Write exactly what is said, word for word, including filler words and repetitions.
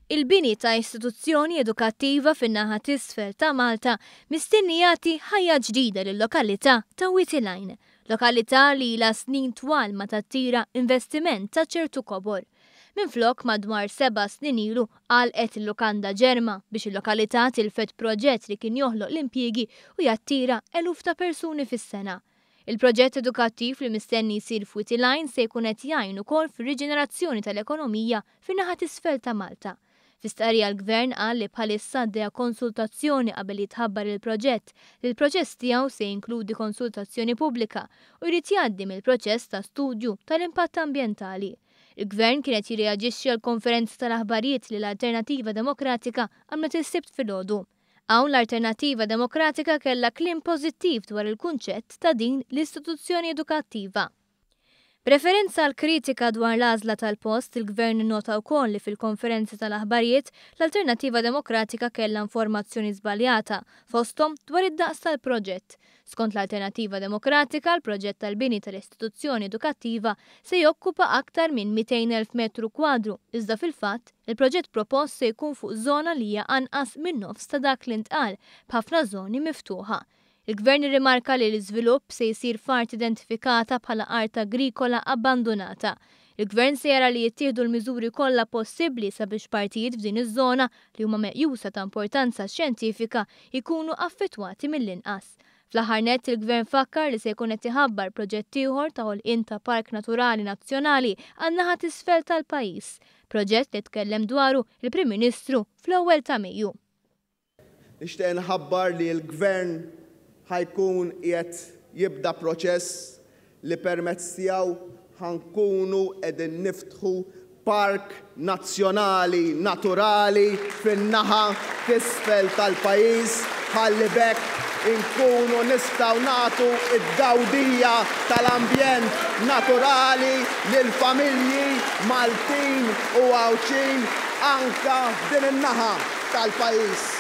Il-bini ta' istituzzjoni edukattiva fin-naħa t'isfel ta' Malta mistenni jagħti ħajja ġdida lil-lokalità ta' Wied il-Għajn, lokalità li ilha snin twal ma tattira investiment ta' ċertu kobor. Minflok, madwar seba' snin ilu għalqet il-lukanda Ġerma biex il-lokalità tilfet proġett li kien joħloq l-impjiegi u jattira eluf ta' persuni fis-sena. Il-proġett edukattiv li mistenni jsir f'Wied il-Għajn se jkun qed jgħin ukoll fir-riġenerazzjoni tal-ekonomija fin-naħa t'isfel ta' Malta. Fi stqarrija, l-Gvern qal li bħalissa għaddejja konsultazzjoni qabel jitħabbar il-proġett, li l-proċess tiegħu se jinkludi konsultazzjoni pubblika u jrid jgħaddi mill-proċess ta' studju tal-impatt ambjentali. Il-Gvern kien qed jirreaġixxi għal konferenza tal-aħbarijiet li l-Alternattiva Demokratika għamlet is-Sibt filgħodu. Hawn l-Alternattiva Demokratika kellha kliem pożittiv dwar il-kunċett ta' din l-istituzzjoni edukattiva. B'referenza għal kritika dwar l-għażla tal-post, il-Gvern nota wkoll li fil-konferenza tal-aħbarijiet l-Alternattiva Demokratika kellha informazzjoni żbaljata, fosthom dwar id-daqs tal-proġett. Skont l-Alternattiva Demokratika, l-proġett tal-bini tal-istituzzjoni edukattiva se jokkupa aktar minn mitejn elf metru kwadru, iżda fil-fatt il-proġett propost se jkun fuq żona li hija anqas minn nofs ta' dak li ntqal, b'ħafna żoni miftuħa. Il-Gvern irrimarka li l-iżvilupp se jsir f'art identifikata bħala art agrikola abbandonata. Il-Gvern se jara li jittieħdu l-miżuri kollha possibbli sabiex partijiet f'din iż-żona li huma meqjusa ta' importanza xjentifika jkunu affettwati mill-inqas. Fl-aħħar nett, il-Gvern fakkar li se jkun qed iħabbar proġett ieħor ta' ħolqien ta' Park Naturali Nazzjonali għan-naħa t'isfel tal-pajjiż. Proġett li tkellem dwaru il-Prim Ministru fl-ewwel ta' Mejju. Nixtieq nħabbar li l-Gvern ħa jkun qiegħed jibda proċess li permezz tiegħu ħa nkunu qegħdin niftħu park nazzjonali naturali fin-naħa t'isfel tal-pajjiż, ħalli b'hekk inkunu nistgħu nagħtu id-dawdija tal-ambjent naturali lil familji Maltin u Għawdxin anka din in-naħa tal-pajjiż.